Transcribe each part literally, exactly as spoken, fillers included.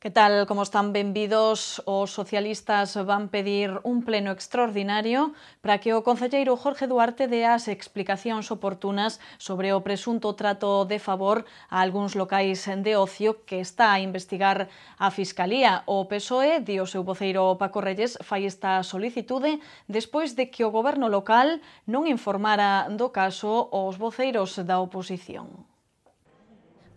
Que tal, como están? Benvidos. Os socialistas van pedir un pleno extraordinario para que o concelleiro Jorge Duarte dea as explicacións oportunas sobre o presunto trato de favor a algúns locais de ocio que está a investigar a Fiscalía. O P S O E, di o seu voceiro Paco Reyes, fai esta solicitude despois de que o goberno local non informara do caso aos voceiros da oposición.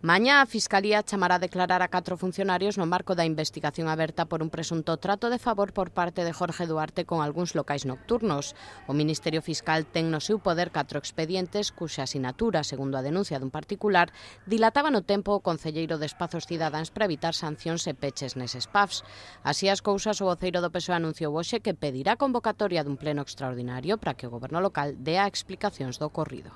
Mañá a Fiscalía chamará a declarar a catro funcionarios no marco da investigación aberta por un presunto trato de favor por parte de Jorge Duarte con algúns locais nocturnos. O Ministerio Fiscal ten no seu poder catro expedientes cuxa asinatura, segundo a denuncia dun particular, dilataba no tempo o concelleiro de Espazos Cidadáns para evitar sancións e peches neses pubs. Así as cousas, o voceiro do P S O E anunciou hoxe que pedirá convocatoria dun pleno extraordinario para que o goberno local dea explicacións do ocorrido.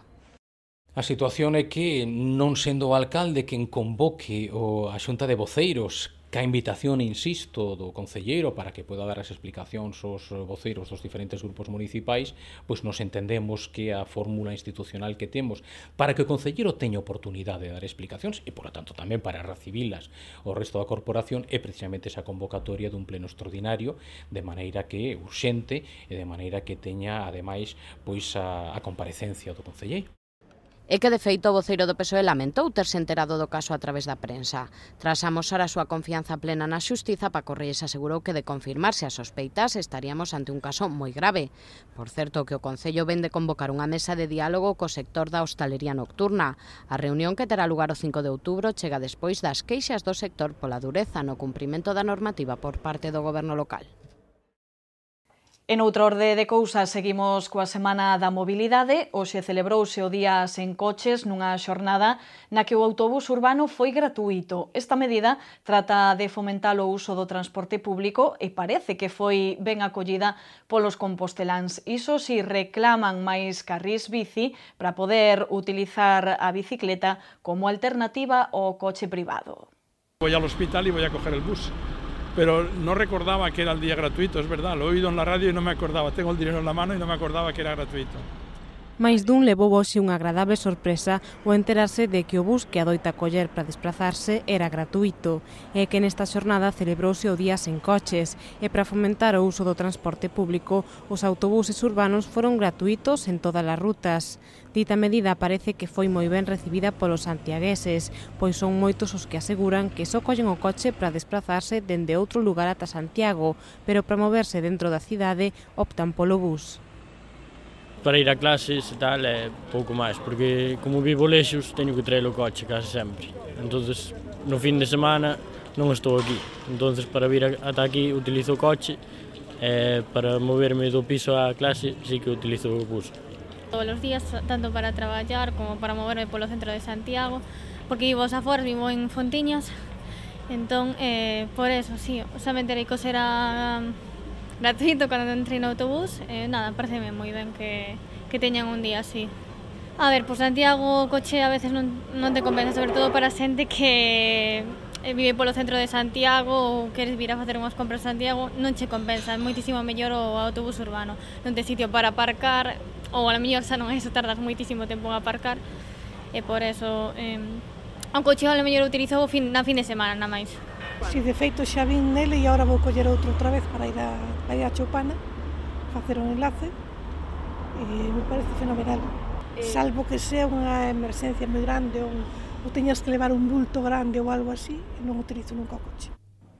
A situación é que, non sendo o alcalde quen convoque a xunta de voceiros, ca invitación, insisto, do concelleiro para que poda dar as explicacións aos voceiros dos diferentes grupos municipais, pois nos entendemos que a fórmula institucional que temos para que o concelleiro teña oportunidade de dar explicacións e, por lo tanto, tamén para recibilas o resto da corporación é precisamente esa convocatoria dun pleno extraordinario, de maneira que é urxente e de maneira que teña, ademais, pois a, a comparecencia do concelleiro. É que, de feito, o voceiro do P S O E lamentou terse enterado do caso a través da prensa. Tras amosar a súa confianza plena na xustiza, Paco Reyes asegurou que de confirmarse as sospeitas estaríamos ante un caso moi grave. Por certo, que o Concello ven de convocar unha mesa de diálogo co sector da hostalería nocturna. A reunión, que terá lugar o cinco de outubro, chega despois das queixas do sector pola dureza no cumprimento da normativa por parte do goberno local. En outro orde de cousas, seguimos coa Semana da Mobilidade. Hoxe celebrouse o Día Sen Coches nunha xornada na que o autobús urbano foi gratuíto. Esta medida trata de fomentar o uso do transporte público e parece que foi ben acollida polos composteláns. Iso si, reclaman máis carrís bici para poder utilizar a bicicleta como alternativa ao coche privado. Voy al hospital y voy a coger el bus. Pero no recordaba que era el día gratuito, es verdad, lo he oído en la radio y no me acordaba, tengo el dinero en la mano y no me acordaba que era gratuito. Mais dun levou hoxe unha agradable sorpresa ao enterarse de que o bus que adoita coller para desplazarse era gratuito e que nesta xornada celebrouse o Día Sen Coches e para fomentar o uso do transporte público os autobuses urbanos foron gratuitos en todas as rutas. Dita medida parece que foi moi ben recibida polos santiagueses, pois son moitos os que aseguran que só collen o coche para desplazarse dende outro lugar ata Santiago, pero para moverse dentro da cidade optan polo bus. Para ir a clases e tal é pouco máis, porque como vivo lexos teño que traer o coche case sempre. Entonces, no fin de semana non estou aquí. Entonces, para vir ata aquí utilizo o coche e para moverme do piso á clase sí que utilizo o bus. Todos os días, tanto para traballar como para moverme polo centro de Santiago, porque vivo aos aforas, vivo en Fontiñas, entón, eh, por eso, sí, somente era que era gratuito cando entrei no autobús, eh, nada, pareceme moi ben que, que teñan un día así. A ver, por Santiago o coche a veces non, non te compensa, sobre todo para xente que vive polo centro de Santiago ou queres vir a facer unhas compras a Santiago, non che compensa, é moitísimo mellor o autobús urbano. Non ten sitio para aparcar, ou a mellor xa non é iso, tardas moitísimo tempo en aparcar, e por eso eh, o coche a mellor utilizo na fin de semana, na máis. Si, de feito xa vin nele e agora vou coller outro outra vez para ir a, para ir a Choupana, facer un enlace, e me parece fenomenal. Salvo que sea unha emerxencia moi grande ou, ou teñas que levar un bulto grande ou algo así, non utilizo nunca o coche.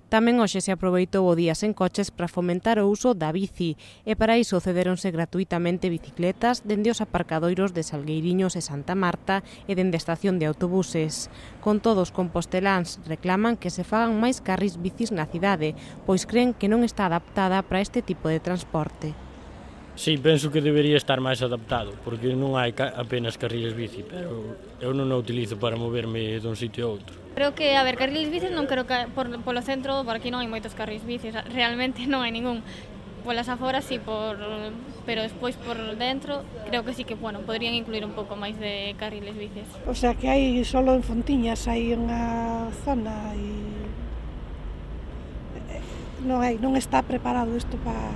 Tamén hoxe se aproveitou o Día Sen Coches para fomentar o uso da bici e para iso cederonse gratuitamente bicicletas dende os aparcadoiros de Salgueiriños e Santa Marta e dende a estación de autobuses. Con todos, composteláns reclaman que se fagan máis carrís bicis na cidade, pois creen que non está adaptada para este tipo de transporte. Sí, penso que debería estar máis adaptado, porque non hai apenas carriles bici, pero eu non o utilizo para moverme dun sitio a outro. Creo que, a ver, carriles bicis non creo que por, polo centro, por aquí non hai moitos carriles bicis, realmente non hai ningún. Polas aforas sí, por, pero despois por dentro creo que sí que, bueno, podrían incluir un pouco máis de carriles bicis. O sea que hai solo en Fontiñas hai unha zona e non hai, non está preparado isto para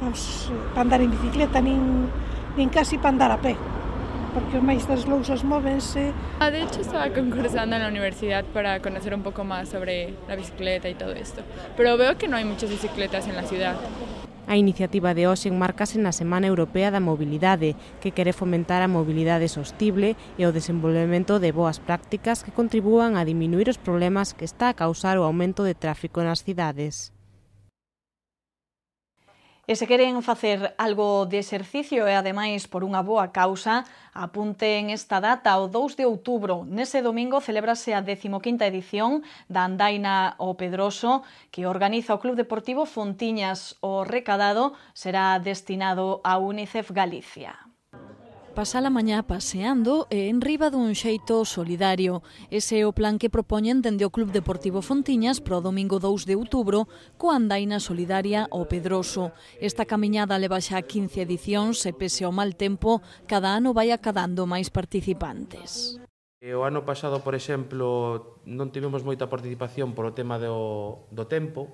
para andar en bicicleta, nin, nin casi para andar a pé. porque os máis das lousas móvense. Ah, de hecho estaba concursando en la universidad para conocer un poco más sobre la bicicleta y todo esto, pero veo que no hay muchas bicicletas en la ciudad. A iniciativa de hoxe enmarcase na Semana Europea da Mobilidade, que quere fomentar a mobilidade sostible e o desenvolvemento de boas prácticas que contribúan a diminuir os problemas que está a causar o aumento de tráfico nas cidades. E se queren facer algo de exercicio e, ademais, por unha boa causa, apunten esta data, o dous de outubro. Nese domingo celébrase a decimoquinta edición da Andaina ao Pedroso, que organiza o Club Deportivo Fontiñas. O recadado será destinado a UNICEF Galicia. Pasar a mañá paseando e en riba dun xeito solidario. Ese é o plan que propoñen dende o Club Deportivo Fontiñas para o domingo dous de outubro coa andaina solidaria ao Pedroso. Esta camiñada leva xa quince edicións e pese ao mal tempo, cada ano vai acadando máis participantes. O ano pasado, por exemplo, non tivemos moita participación por o tema do, do tempo.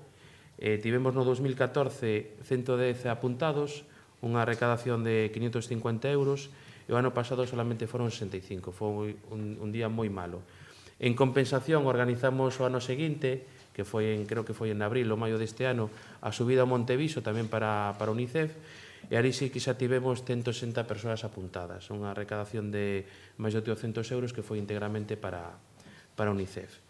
Eh, tivemos no dos mil catorce ciento dez apuntados, unha recadación de quinientos cincuenta euros, e o ano pasado solamente foron sesenta e cinco, foi un, un día moi malo. En compensación, organizamos o ano seguinte, que foi en, creo que foi en abril ou maio deste ano, a subida ao Monteviso tamén para, para UNICEF, e ali sí que xa tivemos ciento sesenta persoas apuntadas, unha recadación de máis de oitocentos euros que foi íntegramente para, para UNICEF.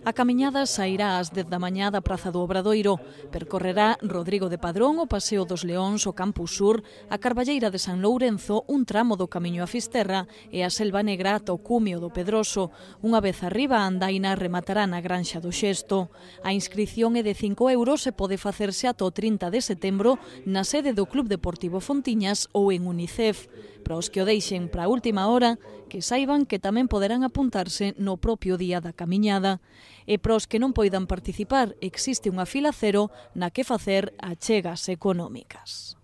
A camiñada sairá ás dez da mañá da Praza do Obradoiro. Percorrerá Rodrigo de Padrón, o Paseo dos Leóns, o Campus Sur, a Carballeira de San Lourenzo, un tramo do Camiño a Fisterra e a Selva Negra ata o Cumio do Pedroso. Unha vez arriba, a andaina rematará na Granxa do Xesto. A inscrición é de cinco euros e pode facerse ata o trinta de setembro na sede do Club Deportivo Fontiñas ou en UNICEF. Para os que o deixen para a última hora, que saiban que tamén poderán apuntarse no propio día da camiñada. E para os que non poidan participar, existe unha fila cero na que facer achegas económicas.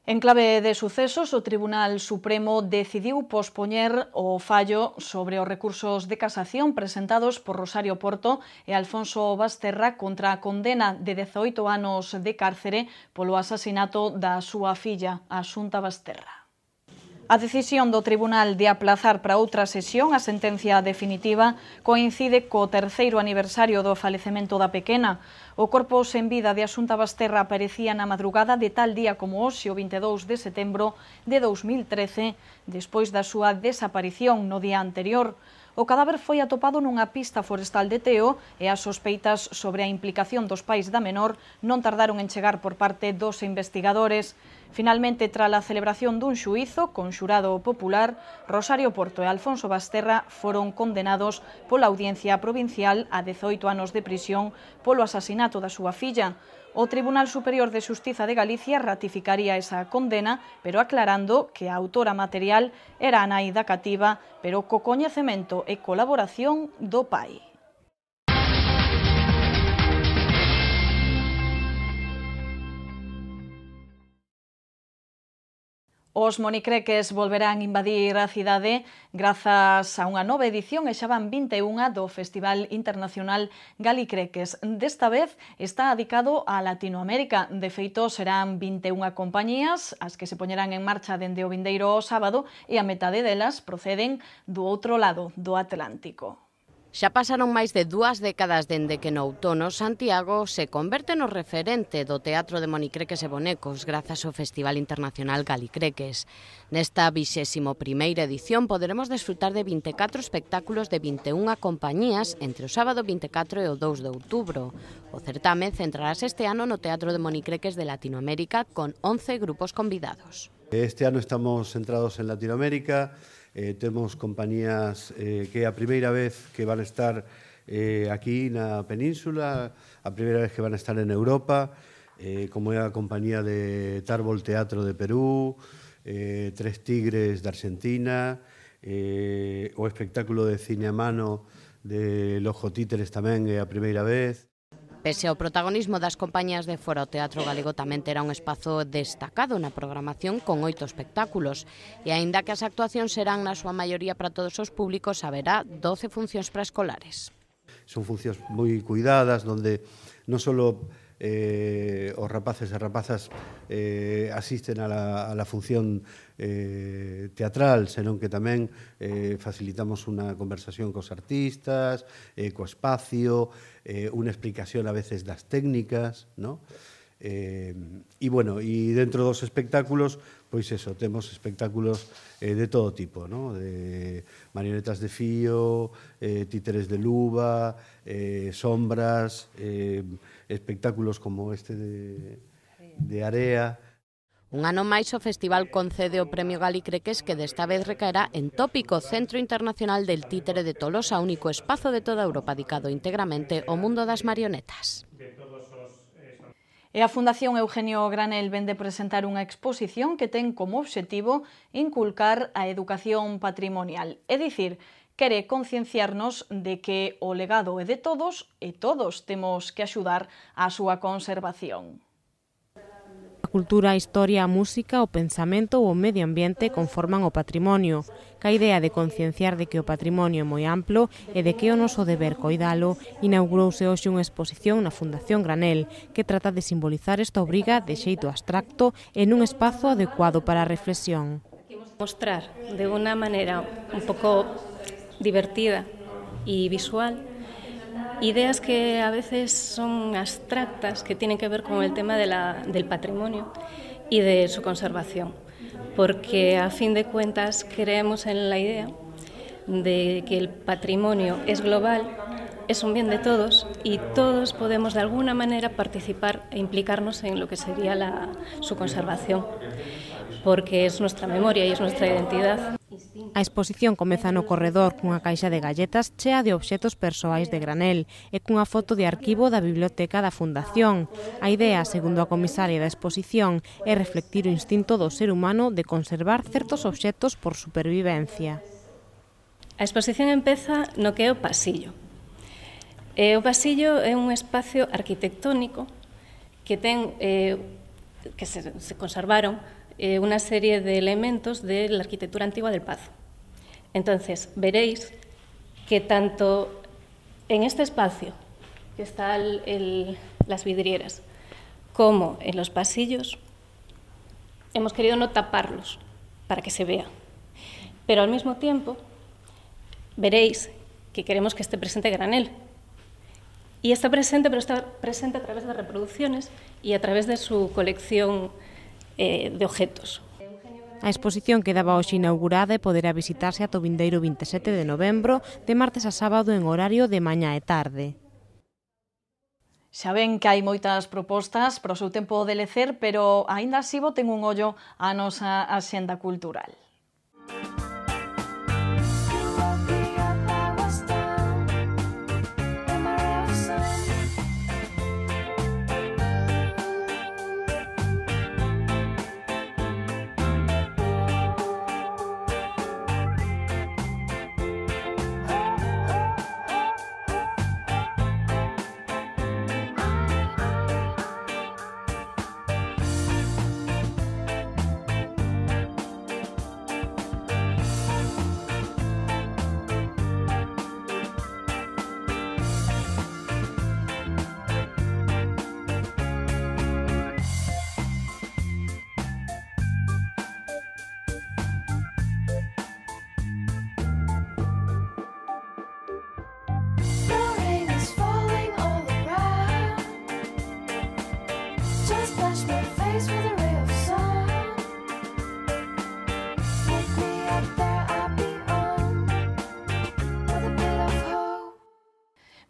En clave de sucesos, o Tribunal Supremo decidiu pospoñer o fallo sobre os recursos de casación presentados por Rosario Porto e Alfonso Basterra contra a condena de dezaoito anos de cárcere polo asasinato da súa filla, a Xunta Basterra. A decisión do Tribunal de aplazar para outra sesión a sentencia definitiva coincide co terceiro aniversario do falecemento da pequena. O corpo sen vida de Asunta Basterra aparecía na madrugada de tal día como hoxe, o vinte e dous de setembro de dous mil trece, despois da súa desaparición no día anterior. O cadáver foi atopado nunha pista forestal de Teo e as sospeitas sobre a implicación dos pais da menor non tardaron en chegar por parte dos investigadores. Finalmente, tras a celebración dun xuízo con xurado popular, Rosario Porto e Alfonso Basterra foron condenados pola Audiencia Provincial a dezaoito anos de prisión polo asasinato da súa filla. O Tribunal Superior de Xustiza de Galicia ratificaría esa condena, pero aclarando que a autora material era a nai da cativa, pero co coñecemento e colaboración do pai. Os monicreques volverán invadir a cidade grazas a unha nova edición e xa van vinte e unha do Festival Internacional Galicreques. Desta vez está dedicado a Latinoamérica. De feito, serán vinte e unha compañías as que se poñerán en marcha dende o vindeiro sábado e a metade delas proceden do outro lado do Atlántico. Xa pasaron máis de dúas décadas dende que no outono Santiago se converte no referente do teatro de monicreques e bonecos grazas ao Festival Internacional Galicreques. Nesta vixésimo primeira edición poderemos desfrutar de vinte e catro espectáculos de vinte e unha compañías entre o sábado vinte e catro e o dous de outubro. O certame centrarase este ano no Teatro de Monicreques de Latinoamérica con once grupos convidados. Este ano estamos centrados en Latinoamérica. Eh, temos compañías eh, que é a primeira vez que van a estar eh, aquí na península, a primeira vez que van a estar en Europa, eh, como é a compañía de Tárbol Teatro de Perú, eh, Tres Tigres de Argentina, eh, o espectáculo de cine a mano de Lojo Títeres tamén é a primeira vez. Pese ao protagonismo das compañías de fora, o Teatro Galego tamén terá un espazo destacado na programación con oito espectáculos. E aínda que as actuacións serán na súa maioría para todos os públicos, haberá doce funcións preescolares. Son funcións moi cuidadas, donde non só eh, os rapaces e rapazas eh, asisten a la, a la función eh, teatral, senón que tamén eh, facilitamos unha conversación cos artistas, eh, co espacio, eh, unha explicación a veces das técnicas, ¿no? Eh, e, bueno, e dentro dos espectáculos, pois eso, temos espectáculos eh, de todo tipo, ¿no? De marionetas de fío, eh, títeres de luva, eh, sombras, eh, espectáculos como este de, de Area. Un ano máis o festival concede o Premio Galicreques, que desta vez recaerá en Tópico, Centro Internacional del Títere de Tolosa, único espazo de toda Europa dedicado íntegramente ao mundo das marionetas. E a Fundación Eugenio Granel vende presentar unha exposición que ten como obxectivo inculcar a educación patrimonial, é dicir, quere concienciarnos de que o legado é de todos e todos temos que axudar á súa conservación. A cultura, a historia, a música, o pensamento ou o medio ambiente conforman o patrimonio, ca idea de concienciar de que o patrimonio é moi amplo e de que é o noso deber coidalo, inaugurouse hoxe unha exposición na Fundación Granel que trata de simbolizar esta obriga de xeito abstracto en un espazo adecuado para a reflexión. Mostrar de unha maneira un pouco divertida e visual ideas que a veces son abstractas, que tienen que ver con el tema de la, del patrimonio y de su conservación, porque a fin de cuentas creemos en la idea de que el patrimonio es global, es un bien de todos y todos podemos de alguna manera participar e implicarnos en lo que sería la, su conservación, porque es nuestra memoria y es nuestra identidad. A exposición comeza no corredor cunha caixa de galletas chea de obxetos persoais de Granel e cunha foto de arquivo da biblioteca da Fundación. A idea, segundo a comisaria da exposición, é reflectir o instinto do ser humano de conservar certos obxetos por supervivencia. A exposición empeza no que é o pasillo. E o pasillo é un espacio arquitectónico que ten eh, que se, se conservaron eh, unha serie de elementos de la arquitectura antigua del Pazo. Entonces, veréis que tanto en este espacio, que está el, el, las vidrieras, como en los pasillos, hemos querido no taparlos para que se vea. Pero al mismo tiempo, veréis que queremos que esté presente Granel. Y está presente, pero está presente a través de reproducciones y a través de su colección eh, de objetos. A exposición quedaba hoxe inaugurada e poderá visitarse ata o vindeiro vinte e sete de novembro, de martes a sábado en horario de mañá e tarde. Xa ven que hai moitas propostas para o seu tempo de lecer, pero aínda así boten un ollo á nosa axenda cultural.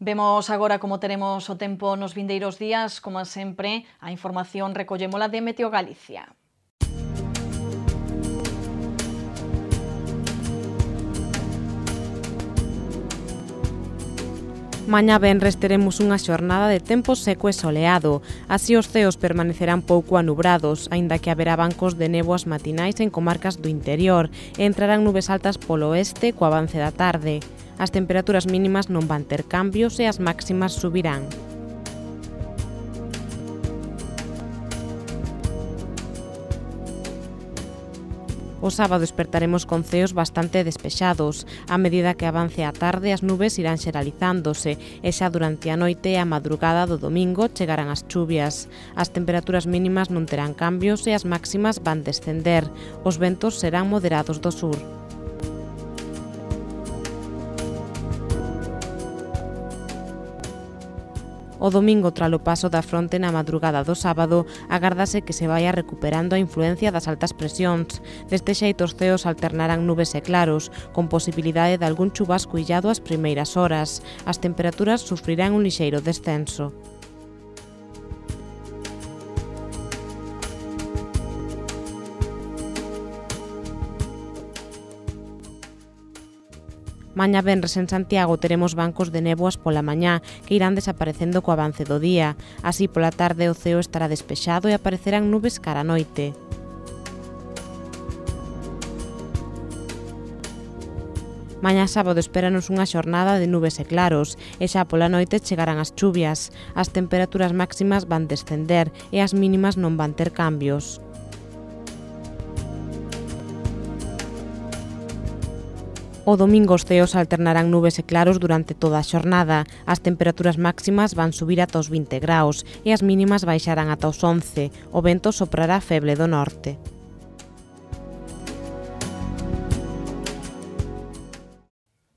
Vemos agora como teremos o tempo nos vindeiros días. Como sempre, a información recollémola de Meteo Galicia. Mañá venres teremos unha xornada de tempo seco e soleado. Así os ceos permanecerán pouco anubrados, aínda que haberá bancos de néboas matinais en comarcas do interior e entrarán nubes altas polo oeste co avance da tarde. As temperaturas mínimas non van ter cambios e as máximas subirán. O sábado despertaremos con ceos bastante despexados. A medida que avance a tarde, as nubes irán xeralizándose e xa durante a noite e a madrugada do domingo chegarán as chuvias. As temperaturas mínimas non terán cambios e as máximas van descender. Os ventos serán moderados do sur. O domingo, tralo paso da fronte na madrugada do sábado, agárdase que se vaia recuperando a influencia das altas presións. Deste xeito, os ceos alternarán nubes e claros, con posibilidade de algún chubasco illado ás primeiras horas. As temperaturas sufrirán un lixeiro descenso. Mañá venres en Santiago teremos bancos de néboas pola mañá que irán desaparecendo co avance do día. Así pola tarde o ceo estará despexado e aparecerán nubes cara a noite. Mañá sábado espéranos unha xornada de nubes e claros e xa pola noite chegarán as chuvias. As temperaturas máximas van descender e as mínimas non van ter cambios. O domingo os ceos alternarán nubes e claros durante toda a xornada. As temperaturas máximas van subir ata os vinte graus e as mínimas baixarán ata os once. O vento soprará feble do norte.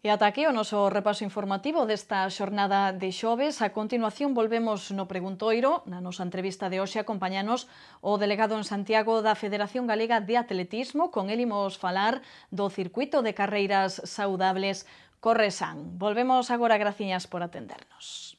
E ata aquí o noso repaso informativo desta xornada de xoves. A continuación volvemos no Preguntoiro. Na nosa entrevista de hoxe acompañanos o delegado en Santiago da Federación Galega de Atletismo. Con el imos falar do circuito de carreiras saudables Corresan. Volvemos agora, graciñas por atendernos.